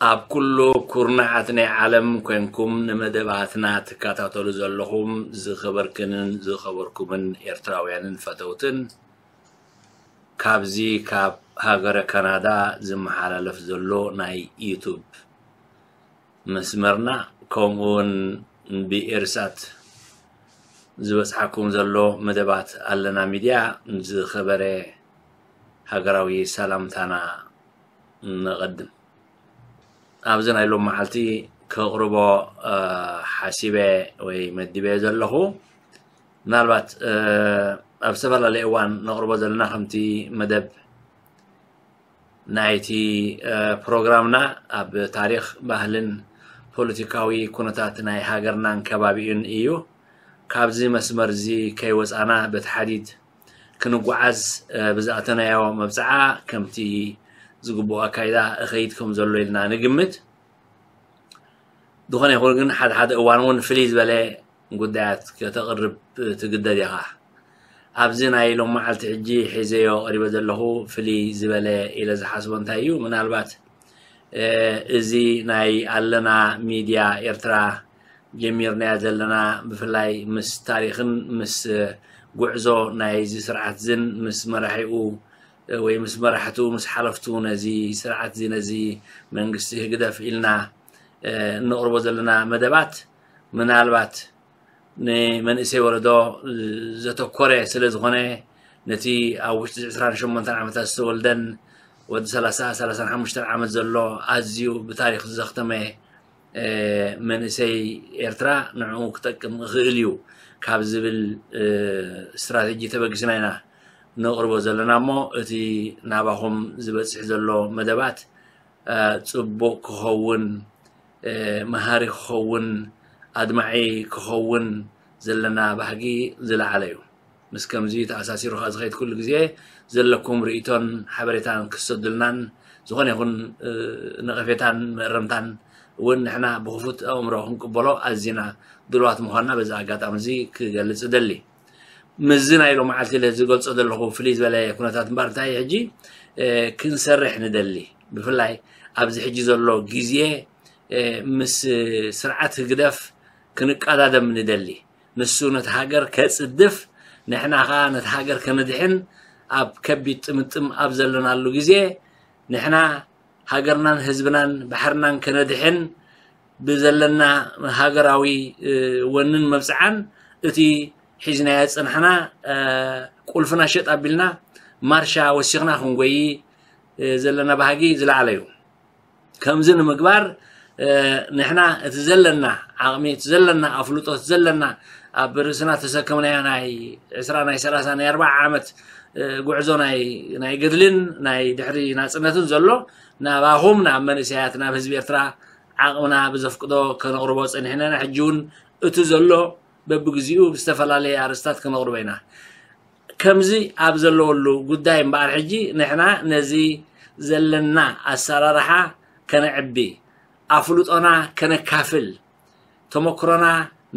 ኣብ ኩሉ ኩርናዓት ናይ ዓለም ኮንኩም ንመደባትና ትከታተሉ ዘለኹም ዝኸበርክንን ዝኸበርኩምን ኤርትራውያንን ፈተውትን፣ ካብዚ ካብ ሃገረ ካናዳ ዝመሓላለፍ ዘሎ ናይ ዩቱብ መስመርና፣ ከምኡውን ብኤርሳት ዝበጽሓኩም ዘሎ መደባት ኣለና ሚድያ፣ ዝኸበረ ሃገራዊ ሰላምታና ነቐድም። ኣብዚ ናይ ሎም መዓልቲ ከቕርቦ፣ እ፣ ሓሲበ ወይ መዲበ ዘለኹ፣ ምናልባት፣ እ፣ ኣብ ዝተፈላለየ እዋን ነቕርቦ ዘለና ከምቲ መደብ ናይቲ፣ እ፣ ፕሮግራምና ኣብ ታሪኽ፣ ባህልን ፖለቲካዊ ኩነታት ናይ ሃገርናን ከባቢኡን እዩ። ካብዚ መስመር እዚ ከይወጻና በቲ ሓዲድ ክንጓዓዝ፣ እ፣ ብዝኣተናዮ መብጽዓ ከምቲ ዝግብኦ ኣካይዳ እኸይድ ከም ዘሎ ኢልና ንግምት። ዝኾነ ይኹን ግን ሓደ ሓደ እዋን እውን ፍልይ ዝበለ ጉዳያት ከተቕርብ ትግደድ ኢኻ። ኣብዚ ናይ ሎም መዓልቲ ሕጂ ሒዘዮ ቀሪበ ዘለኹ ፍልይ ዝበለ ኢለ ዝሓስቦ እንታይ እዩ? ምናልባት፣ እ፣ እዚ ናይ ኣለና ሚድያ ኤርትራ ጀሚርናዮ ዘለና፣ ብፍላይ ምስ ታሪኽን ምስ ጉዕዞ ናይዚ ስርዓት ዝን ምስ መራሒኡ ወይ ምስ መራሕቱ፣ ምስ ሓለፍቱ ነዚ ስርዓት እዚ፣ ነዚ መንግስቲ ህግደፍ ኢልና፣ እ፣ እንቕርቦ ዘለና መደባት፣ ምናልባት ንመንእሰይ ወለዶ ዘተኮረ ስለ ዝኾነ፣ ነቲ ኣብ ውሽጢ ዕስራን ሸሞንተን ዓመታት ዝተወልደን ወዲ ሰላሳ፣ ሰላሳን ሓሙሽተን ዓመት ዘሎ ኣዝዩ ብታሪኽ ዘኽተመ፣ እ፣ መንእሰይ ኤርትራ ንዕኡ ክጠቅም ይኽእል እዩ ካብ ዝብል፣ እ፣ ስትራተጂ ተበጊስና ኢና ነቕርቦ ዘለና እሞ፣ እቲ ናባኹም ዝበጽሕ ዘሎ መደባት፣ እ፣ ጽቡቕ ክኸውን፣ እ፣ መሃሪ ክኸውን፣ ኣድማዒ ክኸውን ዘለና ባህጊ ዝለዓለ እዩ። ምስ ከምዚ ተኣሳሲሩ ከኣ ዝኸይድ ኩሉ ግዜ ዘለኩም ርእይቶን ሓበሬታን ክሰዱልናን፣ ዝኾነ ይኹን፣ እ፣ ነቐፌታን መእረምታን እውን ንሕና ብኽፉት ኣእምሮ ክንቅበሎ ኣዚና ድሉዋት ምዃንና በዚ ኣጋጣሚ እዚ ክገልጽ እደሊ። ምስዚ ናይ ሎም መዓልቲ ኢለ ዝገልጾ ዘለኹ ፍልይ ዝበለ ኩነታት እምበኣር እንታይ እዩ ሕጂ፣ እ፣ ክንሰርሕ ንደሊ። ብፍላይ ኣብዚ ሕጂ ዘሎ ግዜ፣ እ፣ ምስ ስርዓት ህግደፍ ክንቀዳደም ንደሊ። ንሱ ነቲ ሃገር ከጽድፍ፣ ንሕና ኸኣ ነቲ ሃገር ከነድሕን ኣብ ከቢድ ጥምጥም ኣብ ዘለናሉ ግዜ፣ ንሕና ሃገርናን ህዝብናን ባሕርናን ከነድሕን ብዘለና ሃገራዊ፣ እ፣ ወንን መብጽዓን፣ እቲ ሒዝናዮ ዝጸናሕና፣ እ፣ ቁልፍና ሸጥ ኣቢልና ማርሻ ወሲኽና ክንጎዪ፣ እ፣ ዘለና ባህጊ ዝለዓለ እዩ። ከምዚ ንምግባር፣ እ፣ ንሕና እቲ ዘለና ዓቕሚ፣ እቲ ዘለና ኣፍልጦ፣ እቲ ዘለና ኣብ ርእስና ተሰከምናዮ ናይ ዕስራ፣ ናይ ሰላሳ፣ ናይ ኣርብዓ ዓመት፣ እ፣ ጉዕዞ ናይ፣ ናይ ገድልን ናይ ድሕሪ ናጽነትን ዘሎ፣ ናባኹም፣ ናብ መንእሰያት፣ ናብ ህዝቢ ኤርትራ ዓቕምና ብዘፍቅዶ ከነቕርቦ ጸኒሕና ኢና። ሕጂ እውን እቲ ዘሎ በብግዚኡ ብዝተፈላለየ ኣርእስታት ከነቕርቦ ኢና። ከምዚ ኣብ ዘለወሉ ጉዳይ እምበኣር፣ ሕጂ ንሕና ነዚ ዘለና ኣሰራርሓ ከነዕቢ፣ ኣፍልጦና ከነካፍል፣ ተመክሮና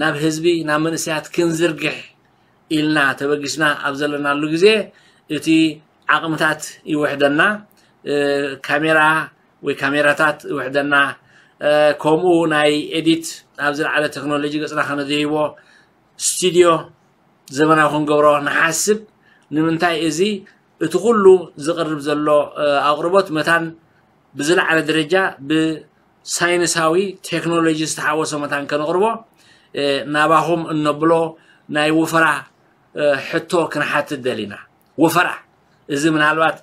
ናብ ህዝቢ፣ ናብ መንእሰያት ክንዝርግሕ ኢልና ተበጊስና ኣብ ዘለናሉ ግዜ፣ እቲ ዓቕምታት ይውሕደና፣ እ፣ ካሜራ ወይ ካሜራታት ይውሕደና፣ እ፣ ከምኡ ናይ ኤዲት ኣብ ዝለዓለ ቴክኖሎጂ ገጽና ከነደይቦ ስቱድዮ ዘመናዊ ክንገብሮ ንሓስብ። ንምንታይ እዚ እቲ ኩሉ ዝቕርብ ዘሎ፣ እ፣ ኣቕርቦት መታን ብዝለዓለ ደረጃ ብሳይንሳዊ ቴክኖሎጂ ዝተሓወሶ መታን ከነቕርቦ፣ እ፣ ናባኹም እነብሎ ናይ ወፈራ፣ እ፣ ሕቶ ክንሓትት ደሊና። ወፈራ፣ እዚ ምናልባት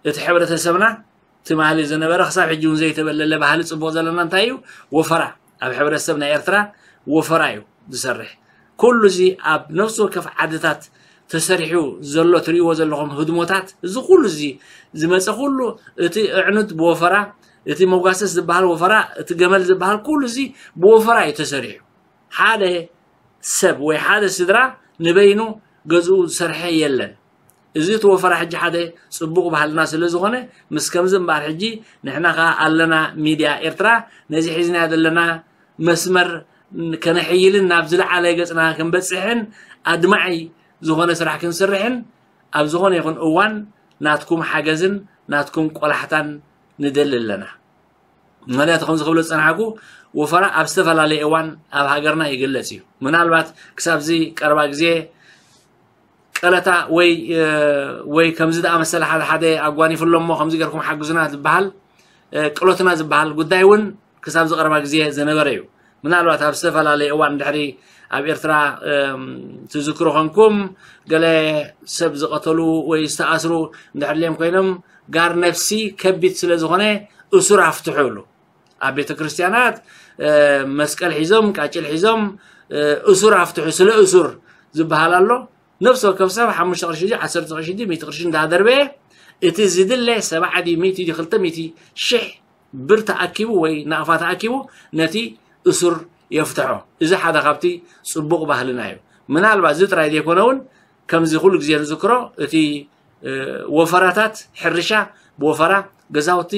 እቲ ሕብረተሰብና ትማሊ ዝነበረ ክሳብ ሕጂ እውን ዘይተበለለ ባህሊ ጽቡቕ ዘለና እንታይ እዩ? ወፈራ። ኣብ ሕብረተሰብ ናይ ኤርትራ ወፈራ እዩ ዝሰርሕ። ኩሉ እዚ ኣብ ነፍሲ ወከፍ ዓድታት ተሰሪሑ ዘሎ ትርእይዎ ዘለኹም ህድሞታት፣ እዚ ኩሉ እዚ ዝመጸ ኩሉ፣ እቲ ኣዕኑድ ብወፈራ፣ እቲ መጓሰስ ዝበሃል ወፈራ፣ እቲ ገመል ዝበሃል ኩሉ እዚ ብወፈራ እዩ ተሰሪሑ። ሓደ ሰብ ወይ ሓደ ስድራ ንበይኑ ገዝኡ ዝሰርሐ የለን። እዚ እቲ ወፈራ ሕጂ ሓደ ጽቡቕ ባህልና ስለ ዝኾነ፣ ምስ ከምዚ እምበኣር ሕጂ ንሕና ከኣ ኣለና ሚድያ ኤርትራ ነዚ ሒዝናዮ ዘለና መስመር ከነሕይልን ናብ ዝለዓለ ገጽና ክንበጽሕን ኣድማዒ ዝኾነ ስራሕ ክንስርሕን ኣብ ዝኾነ ይኹን እዋን ናትኩም ሓገዝን ናትኩም ቆላሕታን ንደሊ ኣለና። ምክንያቱ ከምዚ ክብሎ ዝጸናሕኩ፣ ወፈራ ኣብ ዝተፈላለየ እዋን ኣብ ሃገርና ይግለጽ እዩ። ምናልባት ክሳብዚ ቀረባ ግዜ ቀለታ ወይ ወይ ከምዚ ዝኣመሰለ ሓደ ሓደ ኣጓኒፉ ኣሎ እሞ ከምዚ ገርኩም ሓግዙና ዝበሃል፣ ቅሎትና ዝበሃል ጉዳይ እውን ክሳብ ዝቐረባ ግዜ ዝነበረ እዩ። ምናልባት ኣብ ዝተፈላለየ እዋን ድሕሪ ኣብ ኤርትራ ትዝክሩ ኮንኩም፣ ገለ ሰብ ዝቐተሉ ወይ ዝተኣስሩ እንድሕር ድልዮም ኮይኖም፣ ጋር ነፍሲ ከቢድ ስለ ዝኾነ እሱር ኣፍትሑ ይብሉ። ኣብ ቤተ ክርስቲያናት መስቀል ሒዞም፣ ቃጭል ሒዞም፣ እሱር ኣፍትሑ፣ ስለ እሱር ዝበሃል ኣሎ። ነፍሲ ወከፍ ሰብ ሓሙሽተ ቅርሺ ድዩ፣ ዓሰርተ ቅርሺ ድዩ፣ ሚእቲ ቅርሺ እንዳደርበየ፣ እቲ ዝድለ ሰብዓ ድዩ፣ ሚእቲ ድዩ፣ ክልተ ሚእቲ ሽሕ ብር ተኣኪቡ ወይ ናቕፋ ተኣኪቡ ነቲ እሱር የፍትሖ። እዚ ሓደ ካብቲ ጽቡቕ ባህልና እዩ። ምናልባት እዚ ጥራይ ዘይኮነ እውን ከምዚ ኩሉ ግዜ ንዝክሮ፣ እቲ ወፈራታት ሕርሻ ብወፈራ፣ ገዛውቲ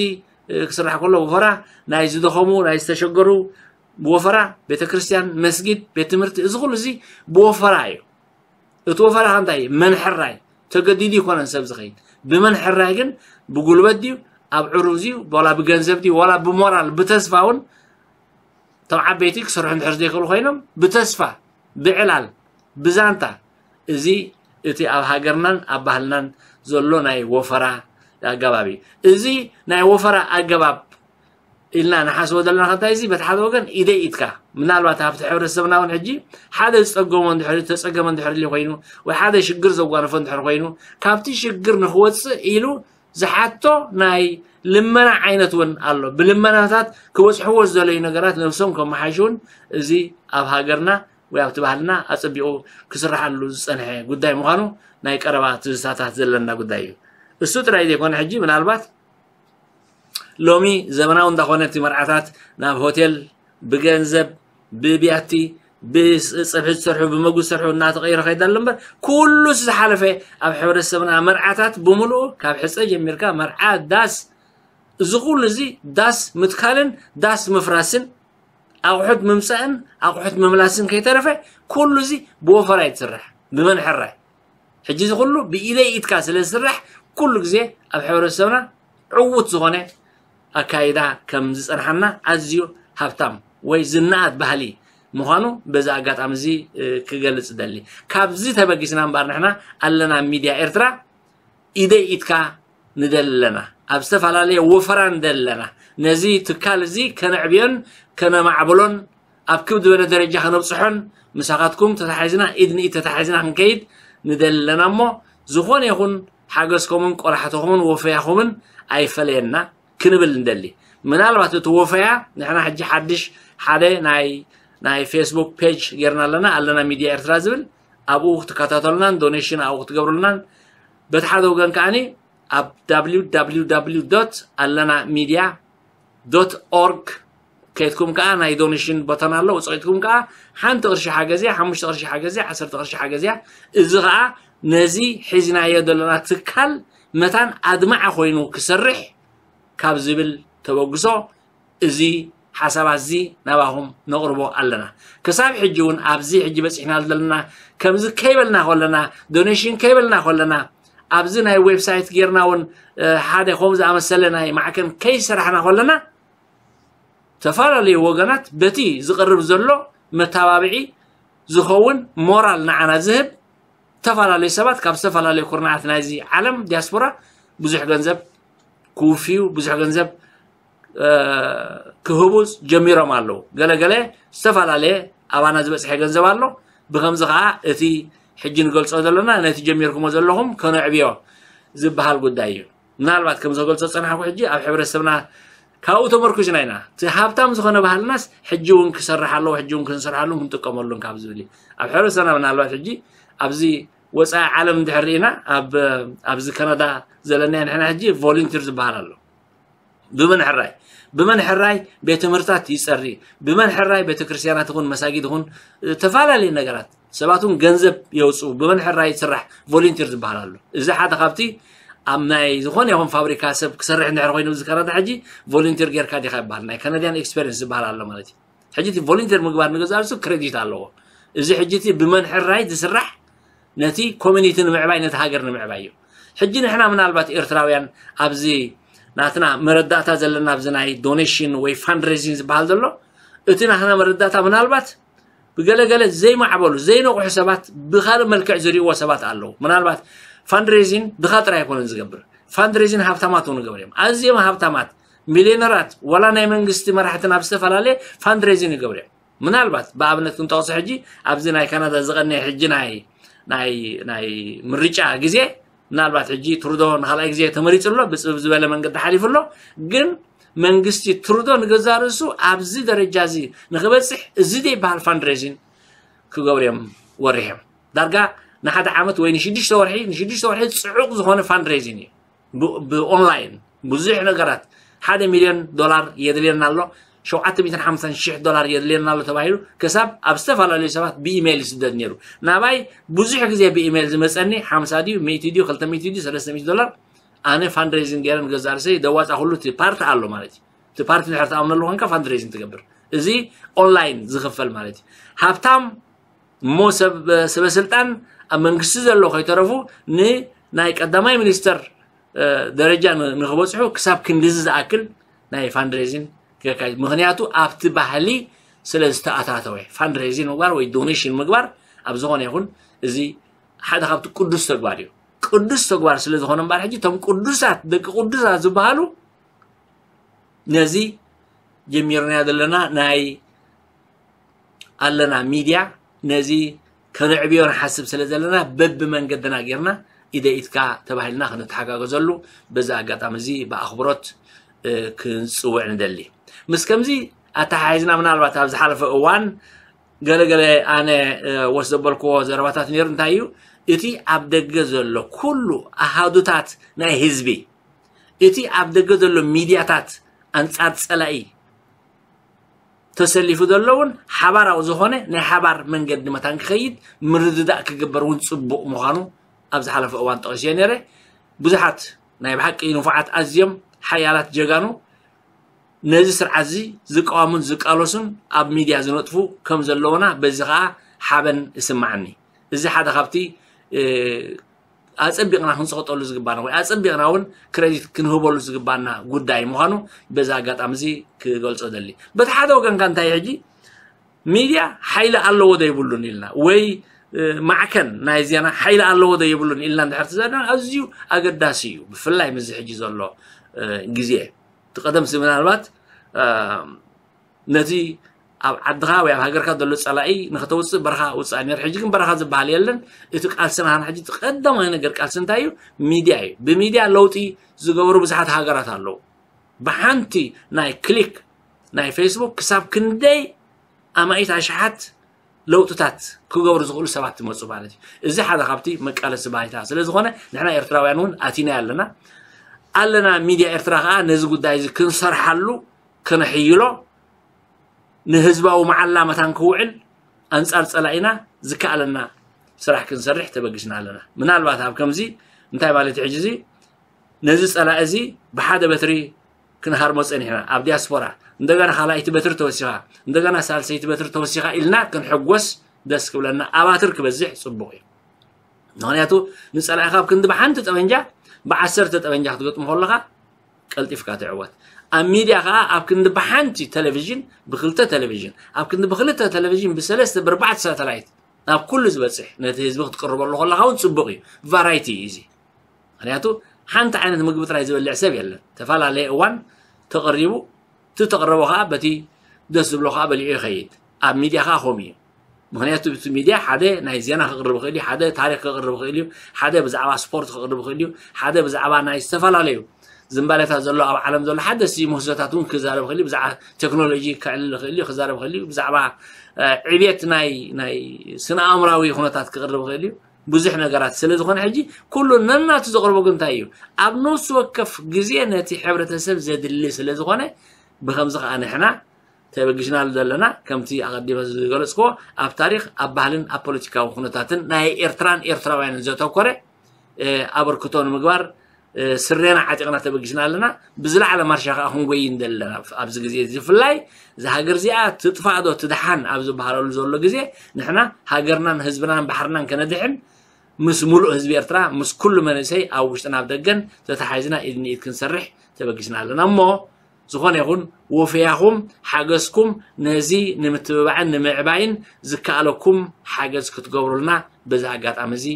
ክስራሕ ከሎ ብወፈራ፣ ናይ ዝደኸሙ ናይ ዝተሸገሩ ብወፈራ፣ ቤተክርስትያን፣ መስጊድ፣ ቤት ትምህርቲ፣ እዚ ኩሉ እዚ ብወፈራ እዩ። እቲ ወፈራ ከ እንታይ እዩ? መንሕራይ። ተገዲዱ ይኮነን ሰብ ዝኸይድ። ብመንሕራይ ግን ብጉልበት ድዩ፣ ኣብ ዕሩብ ድዩ፣ ዋላ ብገንዘብ ድዩ፣ ዋላ ብሞራል፣ ብተስፋ እውን እቶም ዓበይቲ ክሰርሑ እንድሕር ዘይክእሉ ኮይኖም ብተስፋ፣ ብዕላል፣ ብዛንታ፣ እዚ እቲ ኣብ ሃገርናን ኣብ ባህልናን ዘሎ ናይ ወፈራ ኣገባብ እዩ። እዚ ናይ ወፈራ ኣገባብ ኢልና ንሓስቦ ዘለና ከንታይ እዚ በቲ ሓደ ወገን ኢደይ ኢድካ ምናልባት ኣብቲ ሕብረተሰብና እውን ሕጂ ሓደ ዝፀገሞ እንድሕር ተፀገመ እንድሕር ኢሉ ኮይኑ ወይ ሓደ ሽግር ዘጓነፎ እንድሕር ኮይኑ ካብቲ ሽግር ንክወፅእ ኢሉ ዝሓቶ ናይ ልመና ዓይነት እውን ኣሎ። ብልመናታት ክበፅሕዎ ዝደለዩ ነገራት ነብሶም ከመሓይሹ እውን እዚ ኣብ ሃገርና ወይ ኣብቲ ባህልና ኣፀቢቑ ክስርሓሉ ዝፀንሐ ጉዳይ ምዃኑ ናይ ቀረባ ትዝታታት ዘለና ጉዳይ እዩ። እሱ ጥራይ ዘይኮነ ሕጂ ምናልባት ሎሚ ዘመናዊ እንዳኾነ እቲ መርዓታት ናብ ሆቴል ብገንዘብ ብቢያቲ ብፀብሒ ዝሰርሑ ብመጉ ዝሰርሑ እናተቐይረ ከይዳ ኣሎ እምበር ኩሉስ ዝሓለፈ ኣብ ሕብረተሰብና መርዓታት ብምሉኡ ካብ ሕፀ ጀሚርካ መርዓ ዳስ እዚ ኩሉ እዚ ዳስ ምትካልን ዳስ ምፍራስን ኣቑሑት ምምፃእን ኣቑሑት ምምላስን ከይተረፈ ኩሉ እዚ ብወፈራ እዩ ዝስራሕ ብመንሕራይ። ሕጂ እዚ ኩሉ ብኢደይ ኢድካ ስለ ዝስራሕ ኩሉ ግዜ ኣብ ሕብረተሰብና ዕዉት ዝኾነ ኣካይዳ ከም ዝፀንሓና ኣዝዩ ሃብታም ወይ ዝነኣድ ባህሊ ምዃኑ በዚ ኣጋጣሚ እዚ ክገልፅ እደሊ። ካብዚ ተበጊስና እምበኣር ንሕና ኣለና ሚድያ ኤርትራ ኢደይ ኢድካ ንደሊ ኣለና። ኣብ ዝተፈላለየ ወፈራ ንደሊ ኣለና። ነዚ ትካል እዚ ከነዕብዮን ከነማዕብሎን ኣብ ክብ ዝበለ ደረጃ ከነብፅሖን ምሳኻትኩም ተታሒዝና ኢድ ንኢድ ተታሒዝና ክንከይድ ንደሊ ኣለና እሞ ዝኾነ ይኹን ሓገዝኩምን ቆላሕትኹምን ወፈያኹምን ኣይፈለየና ክንብል ንደሊ። ምናልባት እቲ ወፈያ ንሕና ሕጂ ሓድሽ ሓደ ናይ ናይ ፌስቡክ ፔጅ ጌርና ኣለና ኣለና ሚድያ ኤርትራ ዝብል ኣብኡ ክትከታተሉናን ዶኔሽን ኣብኡ ክትገብሩልናን በቲ ሓደ ወገን ከዓኒ ኣብ www ኣለና ሚድያ ዶት ኦርግ ከይድኩም ከዓ ናይ ዶኔሽን ቦተን ኣሎ ውፅቂትኩም ከዓ ሓንቲ ቅርሺ ሓገዝያ ሓሙሽተ ቅርሺ ሓገዝያ ዓሰርተ ቅርሺ ሓገዝያ እዚ ከዓ ነዚ ሒዝናዮ ዘለና ትካል መታን ኣድማዓ ኮይኑ ክሰርሕ ካብ ዝብል ተበግሶ እዚ ሓሳባት እዚ ናባኹም ነቕርቦ ኣለና። ክሳብ ሕጂ እውን ኣብዚ ሕጂ በፂሕና ዘለና ከምዚ ከይበልና ከለና ዶኔሽን ከይበልና ከለና ኣብዚ ናይ ዌብሳይት ጌርና እውን ሓደ ከምኡ ዝኣመሰለ ናይ ማዕከን ከይሰራሕና ከለና ዝተፈላለዩ ወገናት በቲ ዝቐርብ ዘሎ መተባብዒ ዝኸውን ሞራል ንዓና ዝህብ ዝተፈላለዩ ሰባት ካብ ዝተፈላለዩ ኩርናዓት ናይዚ ዓለም ዲያስፖራ ብዙሕ ገንዘብ ክውፍዩ ብዙሕ ገንዘብ ክህቡ ጀሚሮም ኣለዉ። ገለገለ ዝተፈላለየ ኣባና ዝበፅሐ ገንዘብ ኣሎ። ብከምዚ ከዓ እቲ ሕጂ ንገልፆ ዘለና ነቲ ጀሚርኩሞ ዘለኹም ከነዕብዮ ዝበሃል ጉዳይ እዩ። ምናልባት ከም ዘገልፆ ዝፀናሕኩ ሕጂ ኣብ ሕብረተሰብና ካብኡ ተመርኩዝና ኢና እቲ ሃብታም ዝኾነ ባህልናስ ሕጂ እውን ክሰርሕ ኣለዎ ሕጂ እውን ክንሰርሓሉን ክንጥቀመሉን ካብ ዝብል እዩ። ኣብ ሕብረተሰብና ምናልባት ሕጂ ኣብዚ ወፃኢ ዓለም እንድሕር ርኢና ኣብዚ ካናዳ ዘለናዮ ንሕና ሕጂ ቮሊንቲር ዝበሃል ኣሎ። ብመን ሕራይ ብመን ሕራይ ቤት ትምህርታት ይፀሪ ብመን ሕራይ ቤተክርስትያናት ይኹን መሳጊድ ይኹን ዝተፈላለዩ ነገራት ሰባት እውን ገንዘብ የውፅኡ ብመን ሕራይ ይስራሕ ቮሊንቲር ዝበሃል ኣሎ። እዚ ሓደ ካብቲ ኣብ ናይ ዝኾነ ይኹን ፋብሪካ ሰብ ክሰርሕ እንድሕር ኮይኑ እዚ ካናዳ ሕጂ ቮሊንቲር ጌርካ ዲኻ ይበሃል ናይ ካናዲያን ኤክስፔሪንስ ዝበሃል ኣሎ ማለት እዩ። ሕጂ እቲ ቮሊንቲር ምግባር ንገዛእ ርእሱ ክሬዲት ኣለዎ። እዚ ሕጂ እቲ ብመን ሕራይ ዝስራሕ ነቲ ኮሚኒቲ ንምዕባይ ነቲ ሃገር ንምዕባይ እዩ። ሕጂ ንሕና ምናልባት ኤርትራውያን ኣብዚ ናትና መረዳእታ ዘለና ኣብዚ ናይ ዶኔሽን ወይ ፋንድሬዚንግ ዝበሃል ዘሎ፣ እቲ ናትና መረዳእታ ምናልባት ብገለገለ ዘይማዕበሉ ዘይነቑሑ ሰባት ብካልእ መልክዕ ዝርእዎ ሰባት ኣለዉ። ምናልባት ፋንድሬዚንግ ድኻ ጥራይ ኣይኮነን ዝገብር፣ ፋንድሬዚንግ ሃብታማት እውን ይገብር እዮም። ኣዝዮም ሃብታማት ሚልዮነራት ዋላ ናይ መንግስቲ መራሕቲ ናብ ዝተፈላለየ ፋንድሬዚንግ ይገብር እዮም። ምናልባት ብኣብነት ክንጠቕሶ ሕጂ ኣብዚ ናይ ካናዳ ዝቐነየ ሕጂ ናይ ናይ ናይ ምርጫ ግዜ ምናልባት ሕጂ ትሩዶ ንኻልኣይ ግዜ ተመሪጹ ኣሎ ብጽብብ ዝበለ መንገዲ ሓሊፉ ኣሎ። ግን መንግስቲ ትሩዶ ንገዛ ርእሱ ኣብዚ ደረጃ እዚ ንኽበጽሕ እዚ ዘይበሃል ፋንድሬዚንግ ክገብሩ እዮም ወሪሖም። ዳርጋ ንሓደ ዓመት ወይ ንሽዱሽተ ወርሒ ንሽዱሽተ ወርሒ ጽዑቕ ዝኾነ ፋንድሬዚንግ እዩ። ብኦንላይን ብዙሕ ነገራት ሓደ ሚልዮን ዶላር የድልየና ኣሎ፣ ሸውዓተ ሚእትን ሓምሳን ሽሕ ዶላር የድልየና ኣሎ ተባሂሉ ክሳብ ኣብ ዝተፈላለዩ ሰባት ብኢሜይል ይስደድ ነይሩ። ናባይ ብዙሕ ግዜ ብኢሜይል ዝመፀኒ ሓምሳ ድዩ ሚእቲ ድዩ ክልተ ሚእቲ ድዩ ሰለስተ ሚእቲ ዶላር ኣነ ፋንድሬዚንግ ገይረ ንገዛ ርእሰይ ደዋፃ ኩሉ እቲ ፓርቲ ኣሎ ማለት እዩ። እቲ ፓርቲ ድሕር ትኣምነሉ ኮንካ ፋንድሬዚንግ ትገብር። እዚ ኦንላይን ዝኽፈል ማለት እዩ። ሃብታም እሞ ሰብ ሰበስልጣን ኣብ መንግስቲ ዘሎ ከይተረፉ ንናይ ቀዳማይ ሚኒስተር ደረጃ ንክበፅሑ ክሳብ ክንድዚ ዝኣክል ናይ ፋንድሬዚንግ ክካይድ። ምክንያቱ ኣብቲ ባህሊ ስለ ዝተኣታተወ ፋንድሬዚንግ ምግባር ወይ ዶኔሽን ምግባር ኣብ ዝኾነ ይኹን እዚ ሓደ ካብቲ ቅዱስ ተግባር እዩ። ቅዱስ ተግባር ስለ ዝኾነ እምበኣር ሕጂ እቶም ቅዱሳት ደቂ ቅዱሳት ዝበሃሉ ነዚ ጀሚርናዮ ዘለና ናይ ኣለና ሚድያ ነዚ ከነዕብዮ ንሓስብ ስለ ዘለና በቢ መንገድና ጌርና ኢደ ኢድካ ተባሂልና ክንተሓጋገዘሉ በዚ ኣጋጣሚ እዚ ብኣኽብሮት ክንፅውዕ ንደሊ። ምስ ከምዚ ኣተሓሒዝና ምናልባት ኣብ ዝሓለፈ እዋን ገለገለ ኣነ ወስ ዘበልክዎ ዘረባታት ነይሩ። እንታይ እዩ እቲ ኣብ ደገ ዘሎ ኩሉ ኣሃዱታት ናይ ህዝቢ እቲ ኣብ ደገ ዘሎ ሚድያታት ኣንፃር ፀላኢ ተሰሊፉ ዘሎ እውን ሓባራዊ ዝኾነ ናይ ሓባር መንገዲ መታን ክኸይድ ምርድዳእ ክግበር እውን ፅቡቕ ምዃኑ ኣብ ዝሓለፈ እዋን ጠቒሰ ነይረ። ብዙሓት ናይ ብሓቂ ንፉዓት ኣዝዮም ሓያላት ጀጋኑ ነዚ ስርዓት እዚ ዝቃወሙን ዝቃለሱን ኣብ ሚድያ ዝነጥፉ ከም ዘለውና በዚ ከዓ ሓበን ይስማዓኒ። እዚ ሓደ ካብቲ ኣጸቢቕና ክንጸቕጠሉ ዝግባና ወይ ኣጸቢቕና እውን ክረዲት ክንህበሉ ዝግባና ጉዳይ ምዃኑ በዚ ኣጋጣሚ እዚ ክገልጾ ደሊ። በቲ ሓደ ወገንካ እንታይ ሕጂ ሚድያ ሓይሊ ኣለዎ ዶ ይብሉን ኢልና ወይ ማዕከን ናይ ዜና ሓይሊ ኣለዎ ዶ ይብሉን ኢልና እንድሕር ትዘና ኣዝዩ ኣገዳሲ እዩ። ብፍላይ ምስዚ ሕጂ ዘሎ ግዜ እቲ ቀደምሲ ምናልባት ነቲ ኣብ ዓድኻ ወይ ኣብ ሃገርካ ዘሎ ጸላኢ ንክተውፅእ በረኻ ውፅኣ ነይሩ። ሕጂ ግን በረኻ ዝበሃል የለን። እቲ ቃልስና ሕጂ እቲ ቀዳማይ ነገር ቃልሲ እንታይ እዩ? ሚድያ እዩ። ብሚድያ ለውጢ ዝገበሩ ብዙሓት ሃገራት ኣለዉ። ብሓንቲ ናይ ክሊክ ናይ ፌስቡክ ክሳብ ክንደይ ኣማኢት ኣሽሓት ለውጥታት ክገብሩ ዝኽእሉ ሰባት ትመፁ ማለት እዩ። እዚ ሓደ ካብቲ መቃለሲ ባይታ ስለ ዝኾነ ንሕና ኤርትራውያን እውን ኣቲና ኣለና ኣለና ሚድያ ኤርትራ ከዓ ነዚ ጉዳይ እዚ ክንሰርሓሉ ከነሕይሎ ንህዝባዊ መዓላ መታን ክውዕል ኣንጻር ጸላኢና ዝከኣለና ስራሕ ክንሰርሕ ተበጊስና ኣለና። ምናልባት ኣብ ከምዚ እንታይ ማለት እዩ ሕጂ እዚ ነዚ ጸላኢ እዚ ብሓደ በትሪ ክንሃርሞ ጸኒሕና ኣብ ዲያስፖራ እንደገና ካልኣይቲ በትሪ ተወሲኻ እንደገና ሳልሰይቲ በትሪ ተወሲኻ ኢልና ክንሕጎስ ደስ ክብለና ኣባትር ክበዝሕ ጽቡቕ እዩ። ምክንያቱ ንጸላኢኻ ኣብ ክንዲ ብሓንቲ ጠበንጃ ብዓሰርተ ጠበንጃ ክትገጥሞ ከለኻ ቀልጢፍካ ትዕወት። ኣብ ሚድያ ከዓ ኣብ ክንዲ ብሓንቲ ቴሌቪዥን ብክልተ ቴሌቪዥን ኣብ ክንዲ ብክልተ ቴሌቪዥን ብሰለስተ ብርባዕተ ሳተላይት ናብ ኩሉ ዝበፅሕ ነቲ ህዝቢ ክትቅርበሉ ከለካ እውን ፅቡቅ እዩ። ቫራይቲ እዩ እዚ። ምክንያቱ ሓንቲ ዓይነት ምግቢ ጥራይ ዝበልዕ ሰብ የለን። ተፈላለየ እዋን ተቐሪቡ እቲ ተቕረቦ ከዓ በቲ ደስ ዝብሎ ከዓ በሊዑ ይኸይድ። ኣብ ሚድያ ከዓ ከምኡ እዩ። ምክንያቱ እቲ ሚድያ ሓደ ናይ ዜና ክቕርብ ይኽእል እዩ፣ ሓደ ታሪክ ክቕርብ ይኽእል እዩ፣ ሓደ ብዛዕባ ስፖርት ክቕርብ ይኽእል እዩ፣ ሓደ ብዛዕባ ናይ ዝተፈላለዩ ዝንባሌታት ዘሎ ኣብ ዓለም ዘሎ ሓደስቲ ምህዞታት እውን ክዛረብ ይኽእል እዩ፣ ብዛዕባ ቴክኖሎጂ ከዕልል ይኽእል እዩ፣ ክዛረብ ይኽእል እዩ፣ ብዛዕባ ዕብየት ናይ ናይ ስነ ኣእምራዊ ኩነታት ክቕርብ ይኽእል እዩ። ብዙሕ ነገራት ስለ ዝኾነ ሕጂ ኩሉ ነናቱ ዘቕርቦ ግን እንታይ እዩ? ኣብ ነፍሲ ወከፍ ግዜ ነቲ ሕብረተሰብ ዘድሊ ስለ ዝኾነ ብከምዚ ከዓ ንሕና ተበጊስናሉ ዘለና ከምቲ ኣቐዲመ ዝገለፅክዎ ኣብ ታሪክ ኣብ ባህልን ኣብ ፖለቲካዊ ኩነታትን ናይ ኤርትራን ኤርትራውያንን ዘተኮረ ኣበርክቶ ንምግባር ስሬና ዓጢቕና ተበጊስና ኣለና። ብዝለዓለ ማርሻ ከዓ ክንጎይ እንደለና ኣብዚ ግዜ እዚ ብፍላይ እዛ ሃገር እዚኣ ትጥፋእ ዶ ትድሓን ኣብ ዝበሃለሉ ዘሎ ግዜ ንሕና ሃገርናን ህዝብናን ባሕርናን ከነድሕን ምስ ሙሉእ ህዝቢ ኤርትራ ምስ ኩሉ መንእሰይ ኣብ ውሽጥን ኣብ ደገን ተተሓሒዝና ኢድ ንኢድ ክንሰርሕ ተበጊስና ኣለና። እሞ ዝኾነ ይኹን ወፈያኹም ሓገዝኩም ነዚ ንምትብባዕን ንምዕባይን ዝከኣለኩም ሓገዝ ክትገብሩልና በዚ ኣጋጣሚ እዚ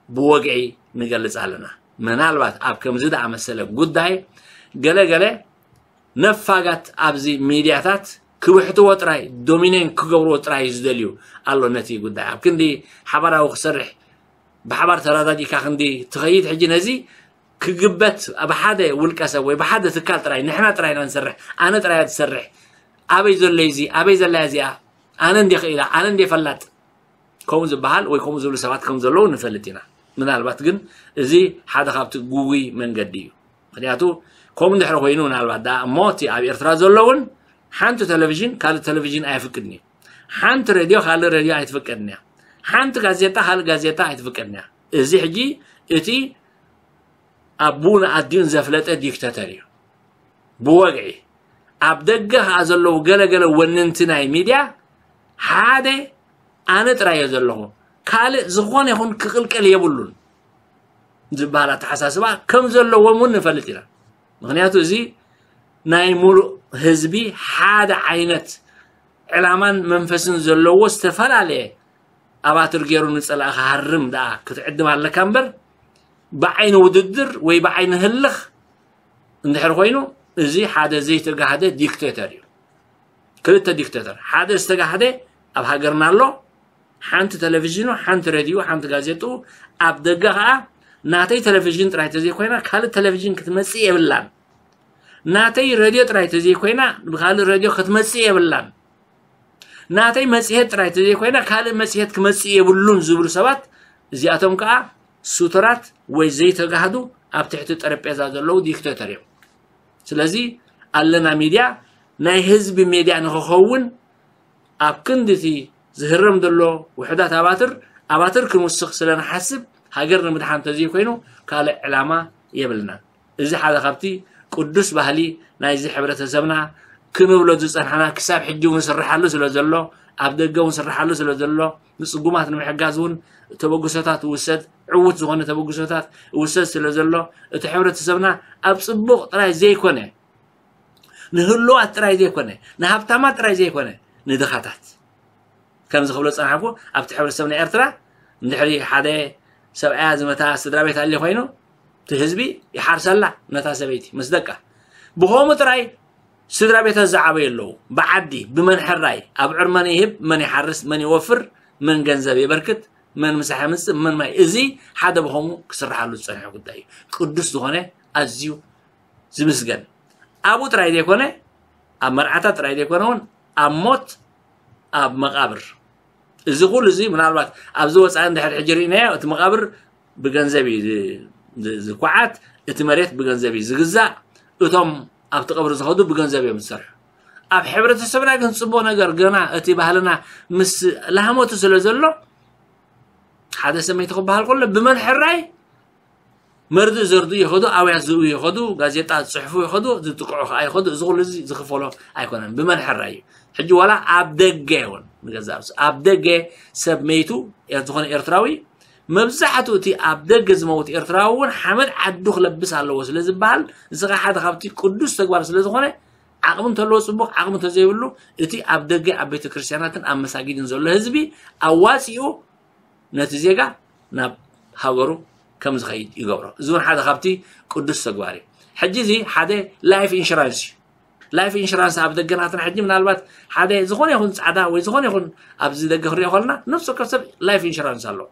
ብወግዒ ንገልጽ ኣለና። ምናልባት ኣብ ከምዚ ዝኣመሰለ ጉዳይ ገለ ገለ ነፋጋት ኣብዚ ሚድያታት ክብሕትዎ ጥራይ፣ ዶሚኔን ክገብርዎ ጥራይ ዝደልዩ ኣሎ። ነቲ ጉዳይ ኣብ ክንዲ ሓባራዊ ክሰርሕ፣ ብሓባር ተረዳዲእካ ክንዲ ትኸይድ፣ ሕጂ ነዚ ክግበት ኣብ ሓደ ውልቀ ሰብ ወይ ብሓደ ትካል ጥራይ፣ ንሕና ጥራይ ኢና ንሰርሕ፣ ኣነ ጥራይ እያ ትሰርሕ፣ ኣበይ ዘሎ እዚ፣ ኣበይ ዘላ እዚኣ፣ ኣነ እንዴ ክኢላ፣ ኣነ እንዴ ፈላጥ፣ ከምኡ ዝበሃል ወይ ከምኡ ዝብሉ ሰባት ከም ዘለዉ ንፈልጥ ኢና። ምናልባት ግን እዚ ሓደ ካብቲ ግጉይ መንገዲ እዩ። ምክንያቱ ከምኡ እንድሕሪ ኮይኑ ምናልባት ደኣ እሞ እቲ ኣብ ኤርትራ ዘሎ እውን ሓንቲ ቴሌቪዥን ካልእ ቴሌቪዥን ኣይፍቅድን እዩ። ሓንቲ ሬድዮ ካልእ ሬድዮ ኣይትፍቀድን እያ። ሓንቲ ጋዜጣ ካልእ ጋዜጣ ኣይትፍቀድን እያ። እዚ ሕጂ እቲ ኣቡን ኣዲኡን ዘፍለጠ ዲክተተር እዩ። ብወግዒ ኣብ ደገ ከኣ ዘለዉ ገለገለ ወነንቲ ናይ ሚድያ ሓደ ኣነ ጥራይ እየ ዘለኹ፣ ካልእ ዝኾነ ይኹን ክቕልቀል የብሉን ዝበሃል ኣተሓሳስባ ከም ዘለዎም እውን ንፈልጥ ኢና። ምክንያቱ እዚ ናይ ሙሉእ ህዝቢ ሓደ ዓይነት ዕላማን መንፈስን ዘለዎ ዝተፈላለየ ኣባትር ገይሩ ንጸላእ ክሃርም ደኣ ክትዕድም ኣለካ እምበር ብዓይኒ ውድድር ወይ ብዓይኒ ህልኽ እንድሕር ኮይኑ እዚ ሓደ ዘይተጋህደ ዲክቴተር እዩ። ክልተ ዲክቴተር፣ ሓደ ዝተጋህደ ኣብ ሃገርና ኣሎ፣ ሓንቲ ቴሌቪዥኑ፣ ሓንቲ ሬድዮ፣ ሓንቲ ጋዜጥኡ፣ ኣብ ደገ ከኣ ናተይ ቴሌቪዥን ጥራይ ተዘይኮይና ካልእ ቴሌቪዥን ክትመጽእ የብላን፣ ናተይ ሬድዮ ጥራይ ተዘይኮይና ብካልእ ሬድዮ ክትመጽእ የብላን፣ ናተይ መጽሔት ጥራይ ተዘይኮይና ካልእ መጽሔት ክመጽእ የብሉን ዝብሉ ሰባት እዚኣቶም ከኣ ሱቱራት ወይ ዘይተጋህዱ ኣብ ትሕቲ ጠረጴዛ ዘለዉ ዲክቴተር እዮም። ስለዚ ኣለና ሚድያ ናይ ህዝቢ ሜድያ ንክኸውን ኣብ ክንዲ እቲ ዝህረም ዘሎ ውሑዳት ኣባትር ኣባትር ክንውስኽ ስለ ንሓስብ ሃገር ንምድሓን ተዘይኮይኑ ካልእ ዕላማ የብልናን። እዚ ሓደ ካብቲ ቅዱስ ባህሊ ናይዚ ሕብረተሰብና ክንብሎ ዝጸናሕና ክሳብ ሕጂ እውን ስርሓሉ ስለ ዘሎ ኣብ ደገ እውን ስርሓሉ ስለ ዘሎ ንጽጉማት ንምሕጋዝ እውን ተበግሶታት ውሰድ ዕዉት ዝኾነ ተበግሶታት ውሰድ ስለ ዘሎ እቲ ሕብረተሰብና ኣብ ጽቡቕ ጥራይ ዘይኮነ ንህሉዋት ጥራይ ዘይኮነ ንሃብታማት ጥራይ ዘይኮነ ንድኻታት ከምዚ ክብሎ ዝጸናሕኩ ኣብቲ ሕብረተሰብ ናይ ኤርትራ እንድሕሪ ሓደ ሰብኣያ ዝመታ ስድራ ቤት ኣልዩ ኮይኑ እቲ ህዝቢ ይሓርሰላ ነታ ሰበይቲ ምስ ደቃ ብኸምኡ ጥራይ ስድራ ቤታት ዝዓበዩ ኣለዉ ብዓዲ ብመን ሕራይ ኣብዕር መን ይህብ መን ይሓርስ መን ይወፍር መን ገንዘብ የበርክት መን ምሳሕ የምፅእ መን ማይ እዚ ሓደ ብኸምኡ ክስርሓሉ ዝፀንሐ ጉዳይ እዩ ቅዱስ ዝኾነ ኣዝዩ ዝምስገን ኣብኡ ጥራይ ዘይኮነ ኣብ መርዓታት ጥራይ ዘይኮነ እውን ኣብ ሞት ኣብ መቓብር እዚ ኩሉ እዚ ምናልባት ኣብዚ ወፃኢ እንድሕር ሕጂ ርኢናዮ እቲ መቓብር ብገንዘብ እዩ ዝኳዓት እቲ መሬት ብገንዘብ እዩ ዝግዛእ እቶም ኣብቲ ቀብሪ ዝኸዱ ብገንዘብ እዮም ዝሰርሑ ኣብ ሕብረተሰብና ግን ፅቡቅ ነገር ገና እቲ ባህልና ምስ ላህመቱ ስለ ዘሎ ሓደ ሰመይቲ ክበሃል ከሎ ብመን ሕራይ መርድእ ዘርድኡ ይኸዱ፣ ኣውያት ዝእው ይኸዱ፣ ጋዜጣ ዝፅሕፉ ይኸዱ፣ ዝጥቅዑ ከዓ ይኸዱ። እዚ ኩሉ እዚ ዝኽፈሎ ኣይኮነን፣ ብመን ሕራይ እዩ። ሕጂ ዋላ ኣብ ደገ እውን ንገዛእ ርእሱ ኣብ ደገ ሰብ መይቱ ዝኾነ ኤርትራዊ መብዛሕትኡ እቲ ኣብ ደገ ዝመውት ኤርትራዊ እውን ሓመድ ዓዱ ክለብስ ኣለዎ ስለ ዝበሃል እዚ ከዓ ሓደ ካብቲ ቅዱስ ተግባር ስለ ዝኾነ ዓቕሚ እንተለዎ ፅቡቕ ዓቕሚ እንተዘይብሉ እቲ ኣብ ደገ ኣብ ቤተ ክርስቲያናትን ኣብ መሳጊድን ዘሎ ህዝቢ ኣዋፂኡ ነቲ ዜጋ ናብ ሃገሩ ከም ዝኸይድ ይገብሮ። እዚ እውን ሓደ ካብቲ ቅዱስ ተግባር እዩ። ሕጂ እዚ ሓደ ላይፍ ኢንሹራንስ እዩ። ላይፍ ኢንሹራንስ ኣብ ደገናትና ሕጂ ምናልባት ሓደ ዝኾነ ይኹን ፃዕዳ ወይ ዝኾነ ይኹን ኣብዚ ደገ ክሪኦ ከለና ነፍሲ ወከፍ ሰብ ላይፍ ኢንሹራንስ ኣለዎ።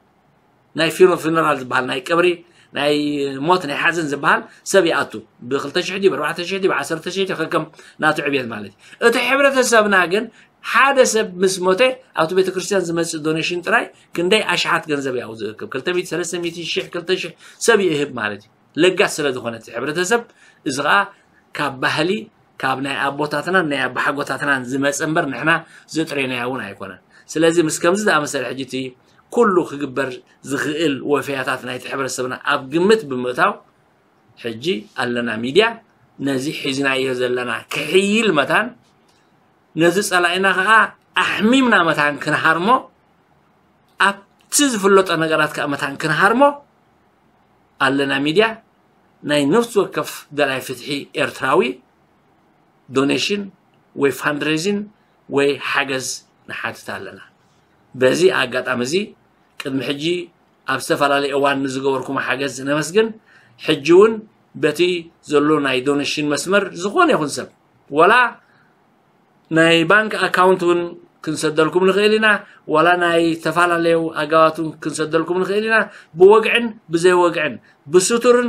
ናይ ፊኖ ፊነራል ዝበሃል ናይ ቀብሪ ናይ ሞት ናይ ሓዘን ዝበሃል ሰብ ይኣቱ ብ2,000 ድዩ ብ4,000 ድዩ ብ10,000 ከከም ናቱ ዕብየት ማለት እዩ። እቲ ሕብረተሰብና ግን ሓደ ሰብ ምስ ሞተ ኣብቲ ቤተክርስትያን ዝመፅእ ዶኔሽን ጥራይ ክንደይ ኣሽሓት ገንዘብ ያው ዝእክብ 200,000 ሰብ ይእህብ ማለት እዩ። ለጋስ ስለ ዝኾነ እቲ ሕብረተሰብ እዚ ከዓ ካብ ባህሊ ካብ ናይ ኣቦታትናን ናይ ኣባሓጎታትናን ዝመፀ እምበር ንሕና ዘጥሬናዮ እውን ኣይኮነን። ስለዚ ምስ ከምዚ ዝኣመሰለ ሕጂ እቲ ኩሉ ክግበር ዝኽእል ወፈያታት ናይቲ ሕብረተሰብና ኣብ ግምት ብምእታው ሕጂ ኣለና ሚድያ ነዚ ሒዝናዮ ዘለና ክሕይል መታን ነዚ ፀላኢና ከዓ ኣሕሚምና መታን ክንሃርሞ ኣብቲ ዝፍለጦ ነገራት ከዓ መታን ክንሃርሞ ኣለና ሚድያ ናይ ነፍሲ ወከፍ ደላይ ፍትሒ ኤርትራዊ ዶኔሽን ወይ ፋንድሬዚን ወይ ሓገዝ ንሓትት ኣለና። በዚ ኣጋጣሚ እዚ ቅድሚ ሕጂ ኣብ ዝተፈላለየ እዋን ንዝገበርኩም ሓገዝ ነመስግን። ሕጂ እውን በቲ ዘሎ ናይ ዶኔሽን መስመር ዝኾነ ይኹን ሰብ ወላ ናይ ባንክ ኣካውንት እውን ክንሰደልኩም ንኽእል ኢና። ዋላ ናይ ዝተፈላለዩ ኣጋባት እውን ክንሰደልኩም ንኽእል ኢና። ብወግዕን ብዘይወግዕን ብስቱርን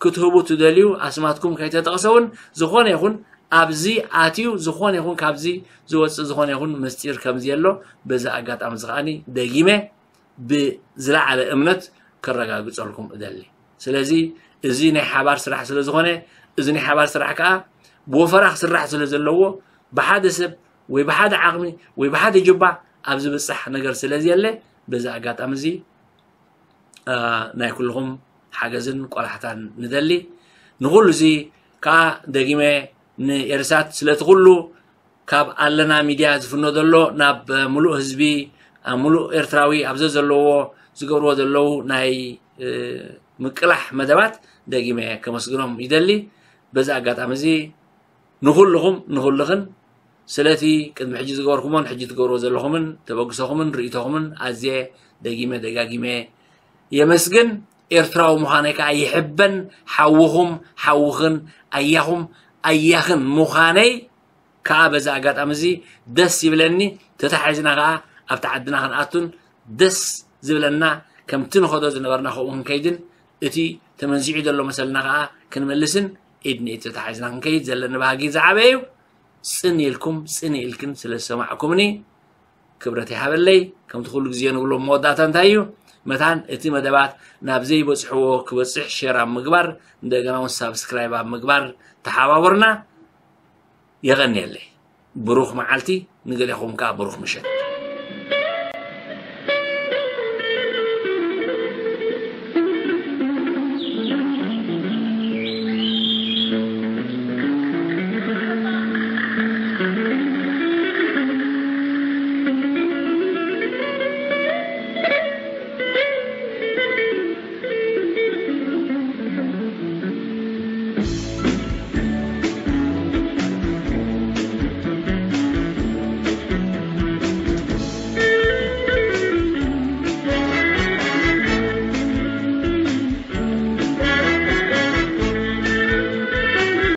ክትህቡ ትደልዩ ኣስማትኩም ከይተጠቕሰ እውን ዝኾነ ይኹን ኣብዚ ኣትዩ ዝኾነ ይኹን ካብዚ ዝወፅእ ዝኾነ ይኹን ምስጢር ከምዚ ኣሎ በዚ ኣጋጣሚ እዚ ከዓኒ ደጊመ ብዝለዓለ እምነት ከረጋግፀልኩም እደሊ። ስለዚ እዚ ናይ ሓባር ስራሕ ስለ ዝኾነ እዚ ናይ ሓባር ስራሕ ከዓ ብወፈራ ክስራሕ ስለ ዘለዎ ብሓደ ሰብ ወይ ብሓደ ዓቕሚ ወይ ብሓደ ጅባ ኣብ ዝብፃሕ ነገር ስለ ዘየለ በዚ ኣጋጣሚ እዚ ናይ ኩልኹም ሓገዝን ቆላሕታን ንደሊ። ንኹሉ እዚ ከዓ ደጊመ ንኤርሳት ስለቲ ኩሉ ካብ ኣለና ሚድያ ዝፍኖ ዘሎ ናብ ሙሉእ ህዝቢ ሙሉእ ኤርትራዊ ኣብ ዘዘለዎ ዝገብርዎ ዘለዉ ናይ ምቅላሕ መደባት ደጊመ ከመስግኖም ይደሊ። በዚ ኣጋጣሚ እዚ ንኹልኹም ንኹልኽን ስለቲ ቅድሚ ሕጂ ዝገበርኩሞን ሕጂ ትገብርዎ ዘለኹምን ተበግሶኹምን ርእይቶኹምን ኣዝየ ደጊመ ደጋጊመ የመስግን። ኤርትራዊ ምዃነይ ከዓ ይሕበን። ሓውኹም ሓውኽን ኣያኹም ኣያኽን ምዃነይ ከዓ በዚ ኣጋጣሚ እዚ ደስ ይብለኒ። ተታሒዝና ከዓ ኣብቲ ዓድና ክንኣቱን ደስ ዝብለና ከምቲ ንኸዶ ዝነበርና ከምኡ ክንከይድን እቲ ተመንዚዑ ዘሎ መሰልና ከዓ ክንመልስን ኢድ ንኢድ ተታሒዝና ክንከይድ ዘለኒ ባህጊ ዝዓበየ እዩ። ፅን ኢልኩም ፅን ኢልክን ስለ ዝሰማዕኩምኒ ክብረት ይሃበለይ። ከምቲ ኩሉ ግዜ ንብሎ መወዳእታ እንታይ እዩ? መታን እቲ መደባት ናብ ዘይበፅሕዎ ክበፅሕ ሼር ኣብ ምግባር እንደገና እውን ሳብስክራይብ ኣብ ምግባር ተሓባበሩና። የቐንየለይ። ብሩኽ መዓልቲ ንገሌኹም ከዓ ብሩኽ ምሸት።